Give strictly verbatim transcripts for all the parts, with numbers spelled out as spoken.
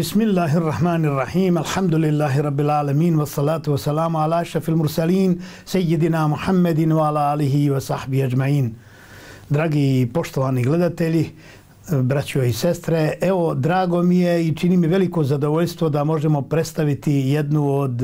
Bismillahirrahmanirrahim. Alhamdulillahi rabbil alamin wa salatu wa salamu ala ašrafil mursalin Seyyidina Muhammedin wa ala alihi wa sahbihi ajma'in. Dragi i poštovani gledatelji, braćo i sestre, evo, drago mi je i čini mi veliko zadovoljstvo da možemo predstaviti jednu od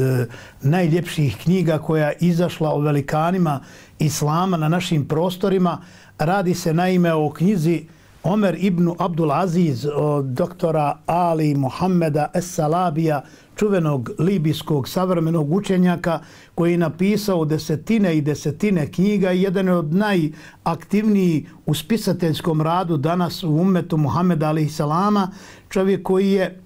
najljepših knjiga koja je izašla o velikanima Islama na našim prostorima. Radi se naime o knjizi Omer ibn Abdul Aziz od doktora Ali Muhammeda Es-Salabija, čuvenog libijskog savremenog učenjaka koji je napisao desetine i desetine knjiga i jedan od najaktivnijih u spisateljskom radu danas u ummetu Muhammeda alejhi selama, čovjek koji je,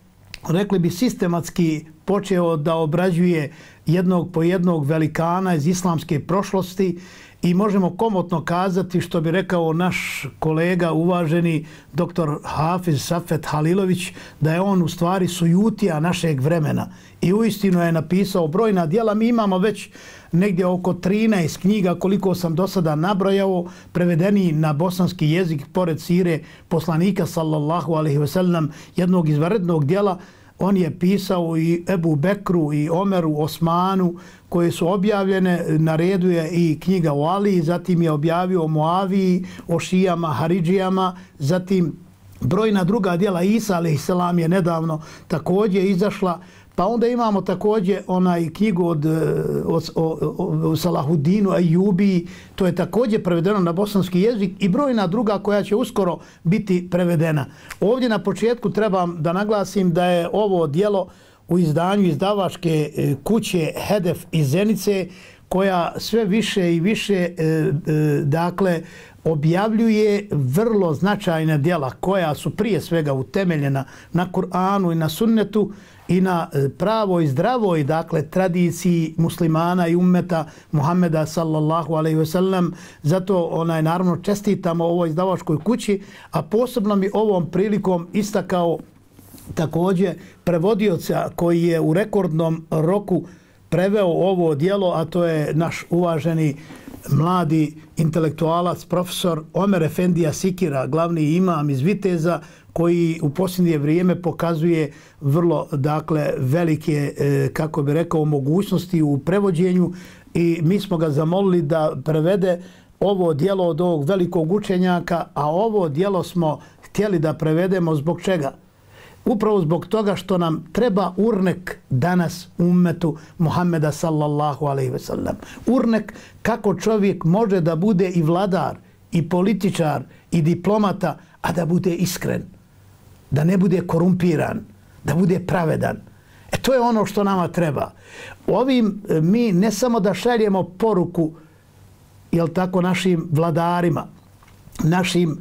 rekli bi, sistematski počeo da obrađuje jednog po jednog velikana iz islamske prošlosti i možemo komotno kazati, što bi rekao naš kolega uvaženi doktor Hafiz Safet Halilović, da je on u stvari sujutija našeg vremena i uistinu je napisao brojna djela. Mi imamo već negdje oko trinaest knjiga, koliko sam do sada nabrojao, prevedeni na bosanski jezik, pored sire poslanika sallallahu alejhi ve sellem, jednog izvanrednog djela. On je pisao i Ebu Bekru i Omeru, Osmanu, koje su objavljene. Na redu je i knjiga o Ali, zatim je objavio o Muaviji, o Šijama, Haridžijama, zatim brojna druga djela. Isa alejhi selam je nedavno također izašla. Pa onda imamo također onaj knjigu od, od, od, od Salahudinu Ejubi, to je također prevedeno na bosanski jezik i brojna druga koja će uskoro biti prevedena. Ovdje na početku trebam da naglasim da je ovo djelo u izdanju izdavačke kuće Hedef iz Zenice, koja sve više i više dakle objavljuje vrlo značajna djela koja su prije svega utemeljena na Kur'anu i na sunnetu i na pravoj i zdravoj, dakle, tradiciji muslimana i ummeta Muhammeda sallallahu alejhi ve sellem. Zato onaj, naravno, čestitamo ovoj izdavačkoj kući, a posebno mi ovom prilikom istakao također prevodioca koji je u rekordnom roku preveo ovo djelo, a to je naš uvaženi mladi intelektualac, profesor Omer Efendija Sikira, glavni imam iz Viteza, koji u posljednje vrijeme pokazuje vrlo, dakle, velike, kako bi rekao, mogućnosti u prevođenju i mi smo ga zamolili da prevede ovo djelo od ovog velikog učenjaka, a ovo djelo smo htjeli da prevedemo zbog čega? Upravo zbog toga što nam treba urnek danas u ummetu Muhammeda sallallahu alejhi ve sellem. Urnek kako čovjek može da bude i vladar, i političar, i diplomata, a da bude iskren, da ne bude korumpiran, da bude pravedan. E to je ono što nama treba. Ovim mi ne samo da šaljemo poruku, jel tako, našim vladarima, našim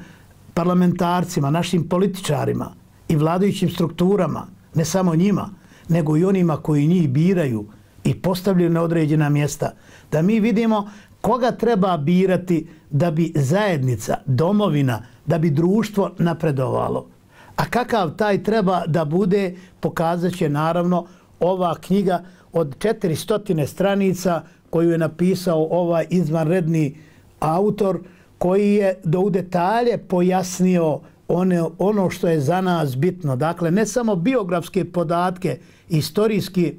parlamentarcima, našim političarima i vladajućim strukturama, ne samo njima, nego i onima koji njih biraju i postavljaju na određena mjesta, da mi vidimo koga treba birati da bi zajednica, domovina, da bi društvo napredovalo. A kakav taj treba da bude, pokazat će naravno ova knjiga od četiristo stranica koju je napisao ovaj izvanredni autor, koji je do u detalje pojasnio One, ono što je za nas bitno. Dakle, ne samo biografske podatke, istorijski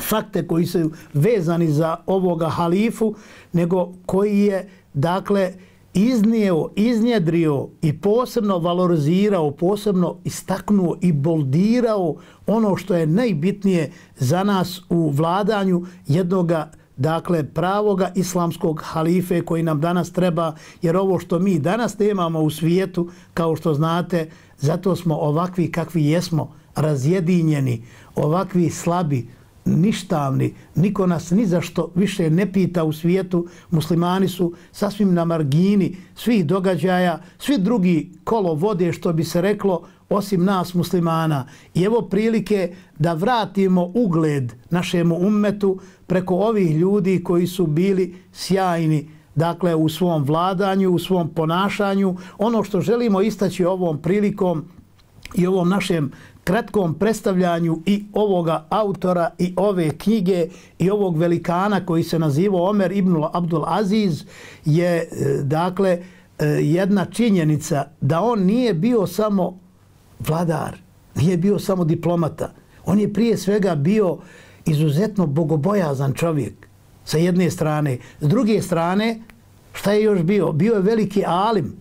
fakte koji su vezani za ovoga halifu, nego koji je, dakle, iznio, iznjedrio i posebno valorizirao, posebno istaknuo i boldirao ono što je najbitnije za nas u vladanju jednoga, dakle, pravoga islamskog halife koji nam danas treba, jer ovo što mi danas nemamo u svijetu, kao što znate, zato smo ovakvi kakvi jesmo, razjedinjeni, ovakvi slabi, ništavni, niko nas ni za što više ne pita u svijetu. Muslimani su sasvim na margini svih događaja, svi drugi kolo vode, što bi se reklo, osim nas muslimana. I evo prilike da vratimo ugled našemu ummetu preko ovih ljudi koji su bili sjajni, dakle, u svom vladanju, u svom ponašanju. Ono što želimo istaći ovom prilikom i ovom našem kratkom predstavljanju i ovoga autora i ove knjige i ovog velikana koji se nazivao Omer ibn Abdul Aziz je, dakle, jedna činjenica da on nije bio samo vladar, Nije bio samo diplomata. On je prije svega bio izuzetno bogobojazan čovjek sa jedne strane. S druge strane, šta je još bio? Bio je veliki alim.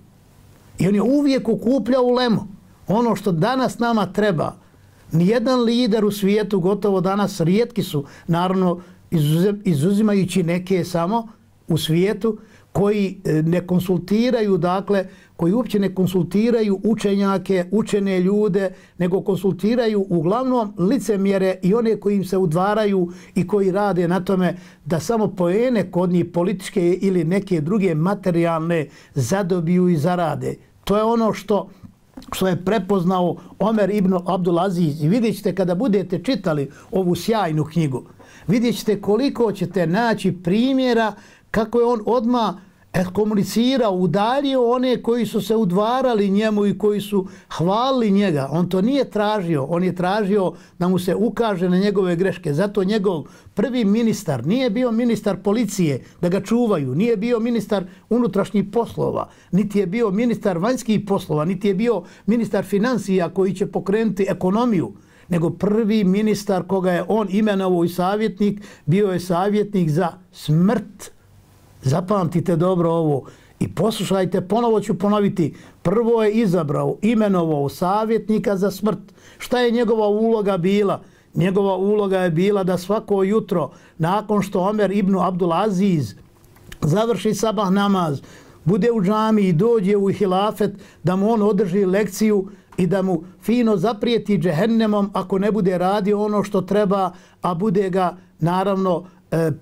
I on je uvijek okupljao ulemu. Ono što danas nama treba, nijedan lider u svijetu, gotovo danas rijetki su, naravno izuzimajući neke samo u svijetu, koji ne konsultiraju, dakle, koji uopće ne konsultiraju učenjake, učene ljude, nego konsultiraju uglavnom licemjere i one koji im se udvaraju i koji rade na tome da samo poene kod njih političke ili neke druge materijalne zadobiju i zarade. To je ono što što je prepoznao Omer ibn Abdulaziz. I vidjet ćete kada budete čitali ovu sjajnu knjigu, vidjet ćete koliko ćete naći primjera kako je on odmah komunicirao, udaljio one koji su se udvarali njemu i koji su hvalili njega. On to nije tražio, on je tražio da mu se ukaže na njegove greške. Zato njegov prvi ministar nije bio ministar policije da ga čuvaju, nije bio ministar unutrašnjih poslova, niti je bio ministar vanjskih poslova, niti je bio ministar financija koji će pokrenuti ekonomiju, nego prvi ministar koga je on imenovao i savjetnik, bio je savjetnik za smrt. Zapamtite dobro ovo i poslušajte, ponovo ću ponoviti. Prvo je izabrao, imenovao savjetnika za smrt. Šta je njegova uloga bila? Njegova uloga je bila da svako jutro, nakon što Omer ibn Abdulaziz završi sabah namaz, bude u džamiji i dođe u hilafet, da mu on održi lekciju i da mu fino zaprijeti džehennemom ako ne bude radio ono što treba, a bude ga naravno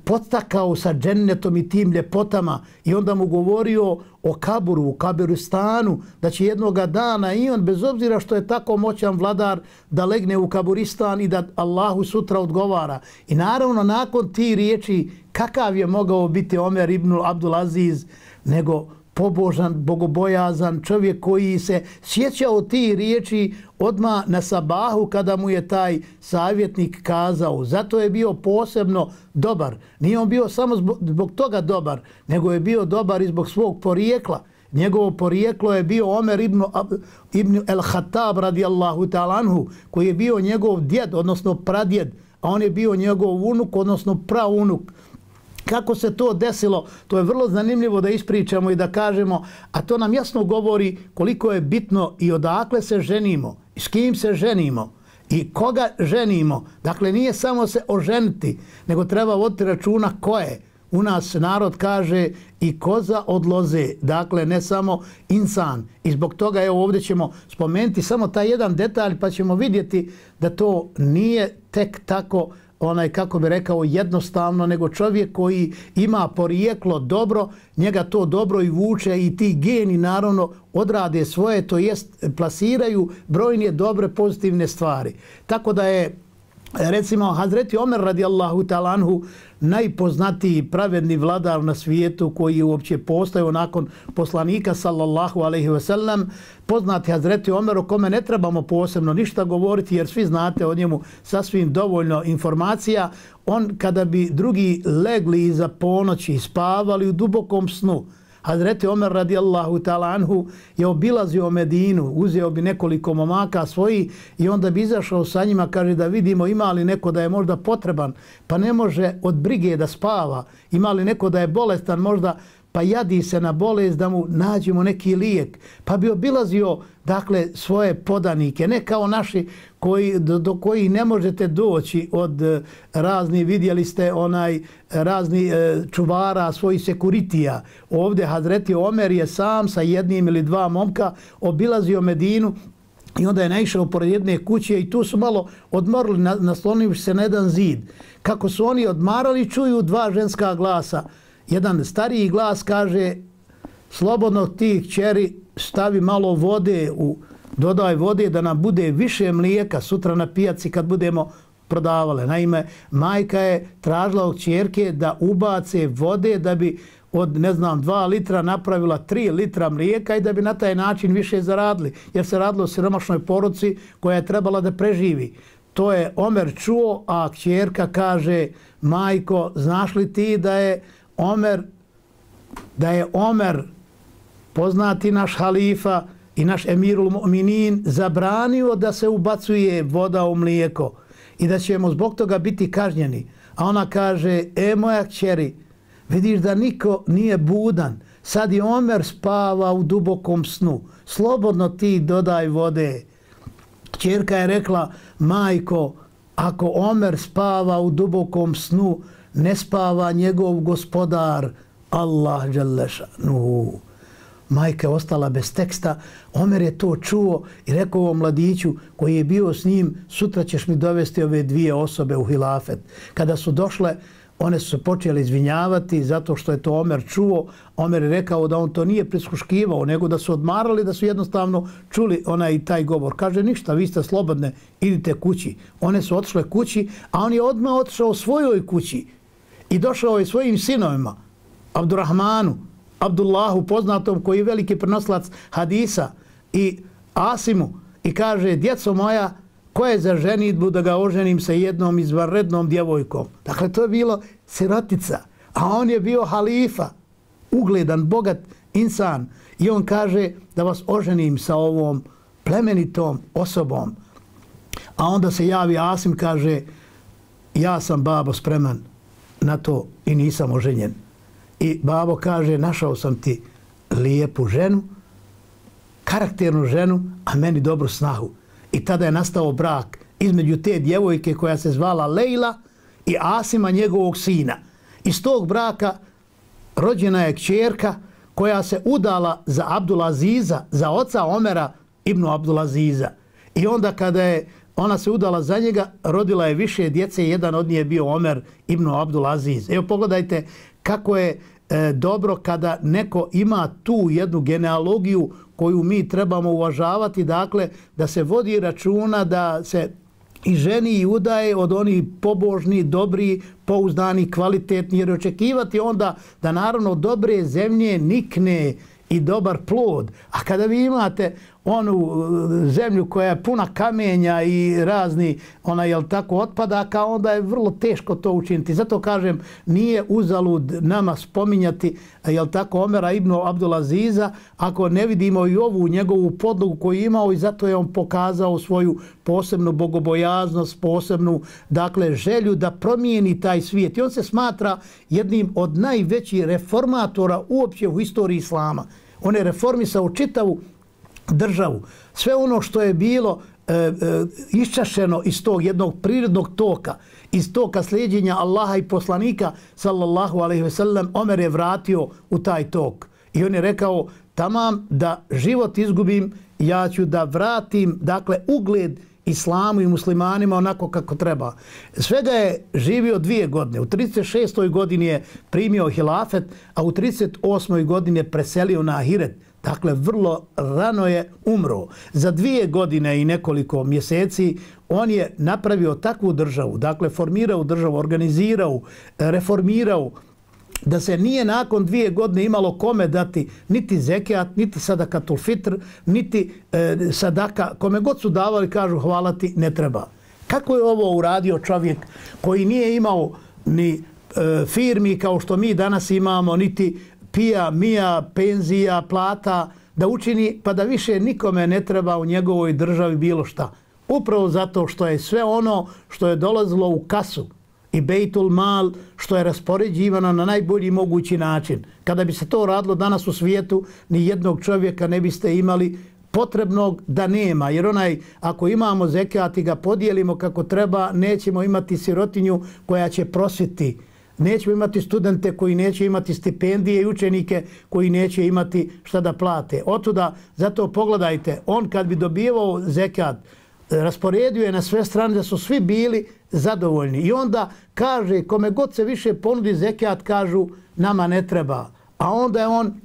podstakao sa džennetom i tim ljepotama i onda mu govorio o kaburu, o kabiristanu, da će jednoga dana i on, bez obzira što je tako moćan vladar, da legne u kaburistan i da Allahu sutra odgovara. I naravno, nakon ti riječi, kakav je mogao biti Omer ibn Abdulaziz, nego pobožan, bogobojazan čovjek koji se sjećao ti riječi odmah na sabahu kada mu je taj savjetnik kazao. Zato je bio posebno dobar. Nije on bio samo zbog, zbog toga dobar, nego je bio dobar i zbog svog porijekla. Njegovo porijeklo je bio Omer ibn, ibn el-Khattab radijallahu ta'ala anhu, koji je bio njegov djed, odnosno pradjed, a on je bio njegov unuk, odnosno praunuk. Kako se to desilo, to je vrlo zanimljivo da ispričamo i da kažemo, a to nam jasno govori koliko je bitno i odakle se ženimo, i s kim se ženimo, i koga ženimo. Dakle, nije samo se oženiti, nego treba voditi računa ko je. U nas narod kaže i koza od loze, dakle ne samo insan. I zbog toga evo ovdje ćemo spomenuti samo taj jedan detalj pa ćemo vidjeti da to nije tek tako onaj, kako bi rekao, jednostavno, nego čovjek koji ima porijeklo dobro, njega to dobro i vuče i ti geni naravno odrade svoje, to jest plasiraju brojne dobre pozitivne stvari. Tako da je recimo Hazreti Omer radijallahu ta'ala anhu najpoznatiji pravedni vladar na svijetu koji je uopće postao nakon poslanika sallallahu alejhi ve sellem. Poznati Hazreti Omer o kome ne trebamo posebno ništa govoriti jer svi znate o njemu sasvim dovoljno informacija. On kada bi drugi legli iza ponoći i spavali u dubokom snu, Hazreti Omer radijallahu ta'ala anhu je obilazio Medinu, uzeo bi nekoliko momaka svoji i onda bi izašao sa njima, kaže da vidimo ima li neko da je možda potreban, pa ne može od brige da spava, ima li neko da je bolestan možda, pa jadi se na bolest da mu nađemo neki lijek, pa bi obilazio dakle svoje podanike, ne kao naši koji, do, do koji ne možete doći od razni, vidjeli ste onaj razni e, čuvara svojih sekuritija. Ovdje Hazreti Omer je sam sa jednim ili dva momka obilazio Medinu i onda je naišao pored jedne kuće i tu su malo odmorili, naslonivši se na jedan zid. Kako su oni odmarali, čuju dva ženska glasa. Jedan stariji glas kaže, slobodno ti kćeri stavi malo vode, u, dodaj vode da nam bude više mlijeka sutra na pijaci kad budemo prodavale. Naime, majka je tražila od kćerke da ubace vode da bi od, ne znam, dva litra napravila tri litra mlijeka i da bi na taj način više zaradili, jer se radilo o siromašnoj porodici koja je trebala da preživi. To je Omer čuo, a kćerka kaže, majko, znaš li ti da je Omer, da je Omer poznati naš halifa i naš emirul mu'minin zabranio da se ubacuje voda u mlijeko i da ćemo zbog toga biti kažnjeni. A ona kaže, e moja kćeri, vidiš da niko nije budan, sad i Omer spava u dubokom snu, slobodno ti dodaj vode. Kćerka je rekla, majko, ako Omer spava u dubokom snu, ne spava njegov gospodar, Allah dželešanu. Majka je ostala bez teksta. Omer je to čuo i rekao ovom mladiću koji je bio s njim, sutra ćeš mi dovesti ove dvije osobe u hilafet. Kada su došle, one su se počele izvinjavati zato što je to Omer čuo. Omer je rekao da on to nije prisluškivao, nego da su odmarali, da su jednostavno čuli onaj taj govor. Kaže, ništa, vi ste slobodne, idite kući. One su otišle kući, a on je odmah otišao svojoj kući i došao je svojim sinovima, Abdurrahmanu, Abdullahu poznatom koji je veliki prenoslac hadisa i Asimu i kaže, djeco moja, ko je za ženitbu da ga oženim sa jednom izvanrednom djevojkom? Dakle, to je bilo sirotica, a on je bio halifa, ugledan, bogat insan i on kaže da vas oženim sa ovom plemenitom osobom. A onda se javi Asim, kaže, ja sam babo spreman na to i nisam oženjen. I babo kaže, našao sam ti lijepu ženu, karakternu ženu, a meni dobru snahu. I tada je nastao brak između te djevojke koja se zvala Lejla i Asima, njegovog sina. Iz tog braka rođena je kćerka koja se udala za Abdulaziza, za oca Omera ibn Abdulaziza. I onda kada je ona se udala za njega, rodila je više djece, jedan od njih je bio Omer ibn Abdulaziz. Evo pogledajte kako je e, dobro kada neko ima tu jednu genealogiju koju mi trebamo uvažavati, dakle da se vodi računa da se i ženi i udaje od onih pobožni, dobri, pouzdani, kvalitetni, jer očekivati onda da naravno dobre zemlje nikne i dobar plod. A kada vi imate onu zemlju koja je puna kamenja i razni ona jel tako otpadaka, onda je vrlo teško to učiniti. Zato kažem, nije uzalud nama spominjati jel tako Omera ibn Abdulaziza ako ne vidimo i ovu njegovu podlogu koju je imao i zato je on pokazao svoju posebnu bogobojaznost, posebnu dakle želju da promijeni taj svijet. I on se smatra jednim od najvećih reformatora uopće u istoriji islama. On je reformisao čitavu državu. Sve ono što je bilo e, e, iščašeno iz tog jednog prirodnog toka, iz toka slijedjenja Allaha i poslanika, sallallahu alaihi ve sellem, Omer je vratio u taj tok. I on je rekao, tamam da život izgubim, ja ću da vratim, dakle, ugled islamu i muslimanima onako kako treba. Svega je živio dvije godine. U trideset šestoj godini je primio hilafet, a u trideset osmoj godini je preselio na ahiret. Dakle, vrlo rano je umro. Za dvije godine i nekoliko mjeseci on je napravio takvu državu, dakle, formirao državu, organizirao, reformirao, da se nije nakon dvije godine imalo kome dati niti zekijat, niti sadakatul fitr, niti e, sadaka. Kome god su davali, kažu hvala ti, ne treba. Kako je ovo uradio čovjek koji nije imao ni e, firmi kao što mi danas imamo, niti pija, mija, penzija, plata, da učini pa da više nikome ne treba u njegovoj državi bilo šta. Upravo zato što je sve ono što je dolazilo u kasu i bejtul mal, što je raspoređivano na najbolji mogući način. Kada bi se to radilo danas u svijetu, ni jednog čovjeka ne biste imali potrebnog da nema. Jer onaj, ako imamo zekijat i ga podijelimo kako treba, nećemo imati sirotinju koja će prosviti. Nećemo imati studente koji neće imati stipendije i učenike koji neće imati šta da plate. Otuda, zato pogledajte, on kad bi dobivao zekijat, rasporedio je na sve strane da su svi bili zadovoljni. I onda kaže, kome god se više ponudi zekijat, kažu, nama ne treba. A onda je on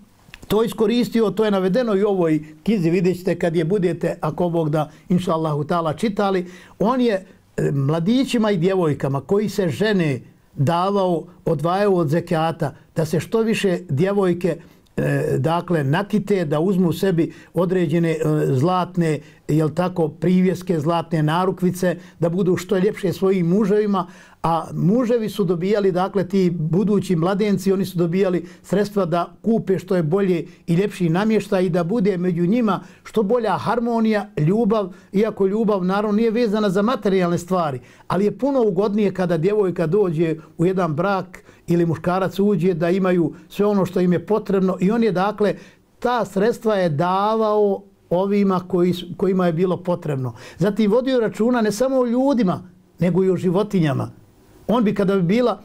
to iskoristio, to je navedeno i u ovoj knjizi, vidjet ćete kad je budete, ako Bog da, inša Allahu ta'ala, čitali. On je mladićima i djevojkama koji se žene davao, odvajao od zekijata, da se što više djevojke dakle nakite, da uzmu sebi određene zlatne, jel tako, privjeske, zlatne narukvice, da budu što ljepše svojim muževima, a muževi su dobijali, dakle ti budući mladenci, oni su dobijali sredstva da kupe što je bolje i ljepši namještaj i da bude među njima što bolja harmonija, ljubav, iako ljubav naravno nije vezana za materijalne stvari, ali je puno ugodnije kada djevojka dođe u jedan brak ili muškarac uđe da imaju sve ono što im je potrebno i on je, dakle, ta sredstva je davao ovima koji, kojima je bilo potrebno. Zatim vodio računa ne samo o ljudima, nego i o životinjama. On bi, kada bi bila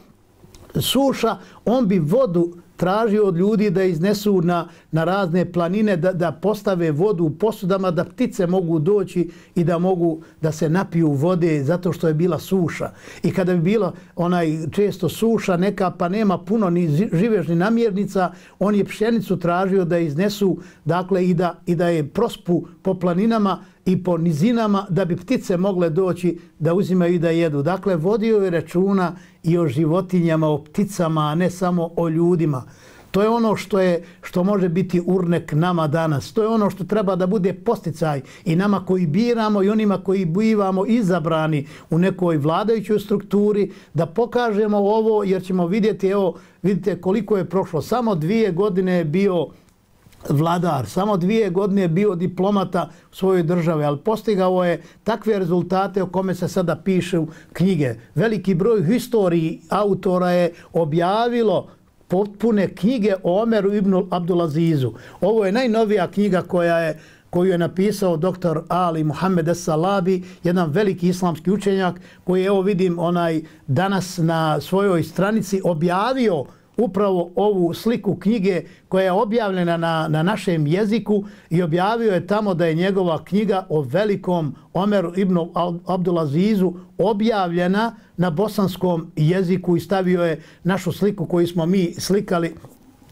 suša, on bi vodu tražio od ljudi da iznesu na, na razne planine, da, da postave vodu u posudama, da ptice mogu doći i da mogu da se napiju vode zato što je bila suša. I kada bi bila onaj često suša neka, pa nema puno ni živežnih namirnica, on je pšenicu tražio da iznesu, dakle, i da, i da je prospu po planinama i po nizinama da bi ptice mogle doći da uzimaju i da jedu. Dakle, vodio je računa i o životinjama, o pticama, a ne samo o ljudima. To je ono što je, što može biti urnek nama danas. To je ono što treba da bude posticaj i nama koji biramo i onima koji bivamo izabrani u nekoj vladajućoj strukturi, da pokažemo ovo, jer ćemo vidjeti, evo, vidite koliko je prošlo. Samo dvije godine je bio vladar, samo dvije godine je bio diplomata u svojoj državi, ali postigao je takve rezultate o kome se sada pišu knjige. Veliki broj historiji autora je objavilo potpune knjige o Omeru ibn Abdulazizu. Ovo je najnovija knjiga koja je koju je napisao doktor Ali Muhammed Es-Salabi, jedan veliki islamski učenjak koji, evo vidim, onaj danas na svojoj stranici objavio upravo ovu sliku knjige koja je objavljena na, na našem jeziku i objavio je tamo da je njegova knjiga o velikom Omeru ibn Abdulazizu objavljena na bosanskom jeziku i stavio je našu sliku koju smo mi slikali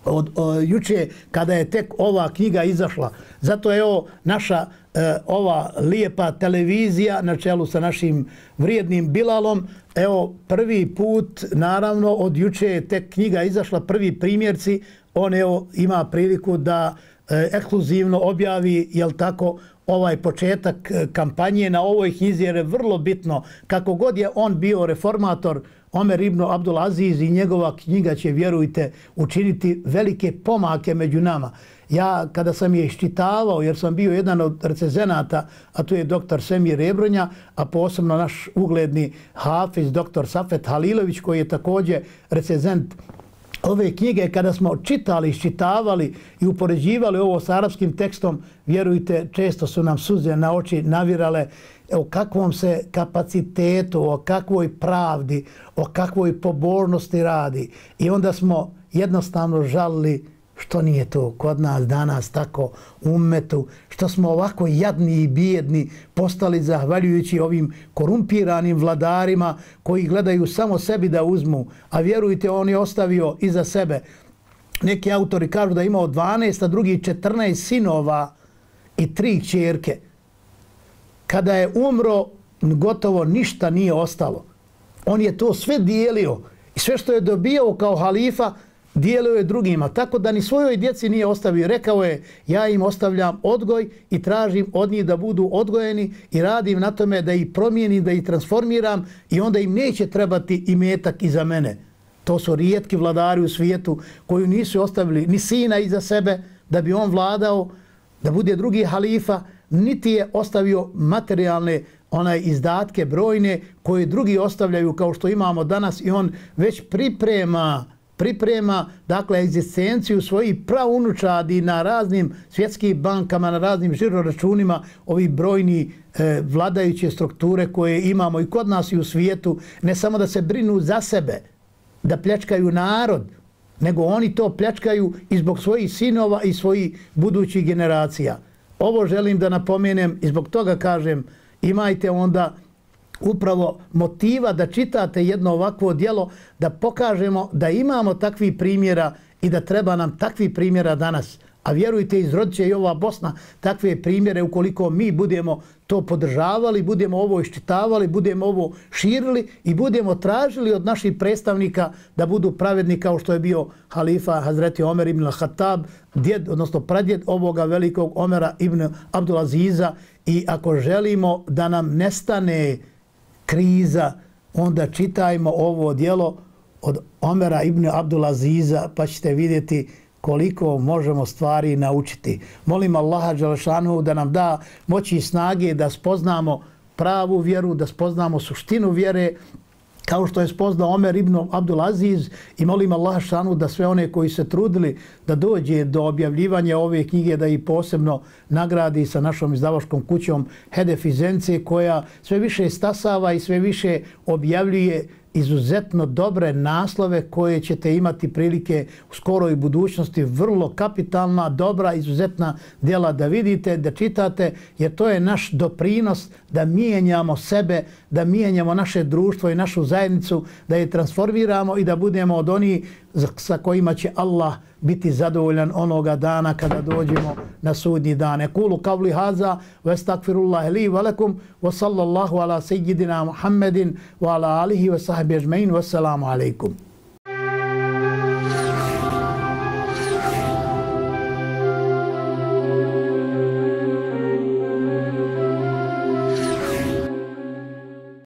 od, od juče kada je tek ova knjiga izašla. Zato je ovo naša e, ova lijepa televizija na čelu sa našim vrijednim Bilalom. Evo, prvi put, naravno, od juče je tek knjiga izašla, prvi primjerci. On evo ima priliku da e, ekskluzivno objavi, jel tako, ovaj početak kampanje na ovoj knjizi, jer je vrlo bitno kako god je on bio reformator, Omer ibn Abdulaziz, i njegova knjiga će, vjerujte, učiniti velike pomake među nama. Ja, kada sam je iščitavao, jer sam bio jedan od recenzenata, a tu je doktor Semir Ebronja, a posebno naš ugledni hafiz, doktor Safet Halilović, koji je također recenzent ove knjige, kada smo čitali, iščitavali i upoređivali ovo s arapskim tekstom, vjerujte, često su nam suze na oči navirale o kakvom se kapacitetu, o kakvoj pravdi, o kakvoj pobožnosti radi. I onda smo jednostavno žalili što nije to kod nas danas tako u ummetu, što smo ovako jadni i bijedni postali zahvaljujući ovim korumpiranim vladarima koji gledaju samo sebi da uzmu, a vjerujte, on je ostavio iza sebe. Neki autori kažu da je imao dvanaest, a drugi četrnaest sinova i tri kćerke. Kada je umro, gotovo ništa nije ostalo. On je to sve dijelio i sve što je dobio kao halifa dijelio je drugima, tako da ni svojoj djeci nije ostavio. Rekao je, ja im ostavljam odgoj i tražim od njih da budu odgojeni i radim na tome da ih promijenim, da ih transformiram i onda im neće trebati imetak iza mene. To su rijetki vladari u svijetu koji nisu ostavili ni sina iza sebe da bi on vladao, da bude drugi halifa, niti je ostavio materijalne onaj izdatke brojne koje drugi ostavljaju kao što imamo danas, i on već priprema priprema, dakle, egzistenciju svojih praunučadi na raznim svjetskim bankama, na raznim žiroračunima, ovi brojni e, vladajuće strukture koje imamo i kod nas i u svijetu, ne samo da se brinu za sebe, da pljačkaju narod, nego oni to pljačkaju i zbog svojih sinova i svojih budućih generacija. Ovo želim da napomenem i zbog toga kažem, imajte onda upravo motiva da čitate jedno ovakvo djelo, da pokažemo da imamo takvih primjera i da treba nam takvih primjera danas, A vjerujte, izrodit će i ova Bosna takve primjere ukoliko mi budemo to podržavali, budemo ovo iščitavali, budemo ovo širili i budemo tražili od naših predstavnika da budu pravedni kao što je bio halifa Hazreti Omer ibn al-Khattab, djed, odnosno pradjed ovoga velikog Omera ibn Abdulaziza. I ako želimo da nam nestane kriza, onda čitajmo ovo djelo od Omera ibn Abdulaziza pa ćete vidjeti koliko možemo stvari naučiti. Molim Allaha dželešanu da nam da moći i snage da spoznamo pravu vjeru, da spoznamo suštinu vjere, kao što je spoznao Omer ibn Abdulaziz, i molim Allaha dželešanu da sve one koji se trudili da dođe do objavljivanja ove knjige, da ih posebno nagradi sa našom izdavačkom kućom Hedef iz Zence, koja sve više stasava i sve više objavljuje izuzetno dobre naslove koje ćete imati prilike u skoroj budućnosti, vrlo kapitalna, dobra, izuzetna djela da vidite, da čitate, jer to je naš doprinos da mijenjamo sebe, da mijenjamo naše društvo i našu zajednicu, da je transformiramo i da budemo od onih sa kojima će Allah biti zadovoljan onoga dana kada dođemo na sudnji dan. Ekulu kavli haza, wa estakfirullahi li wa lakum, wa sallallahu ala sejidina Muhammedin, wa ala alihi wa sahbihi ajma'in, wassalamu alaikum.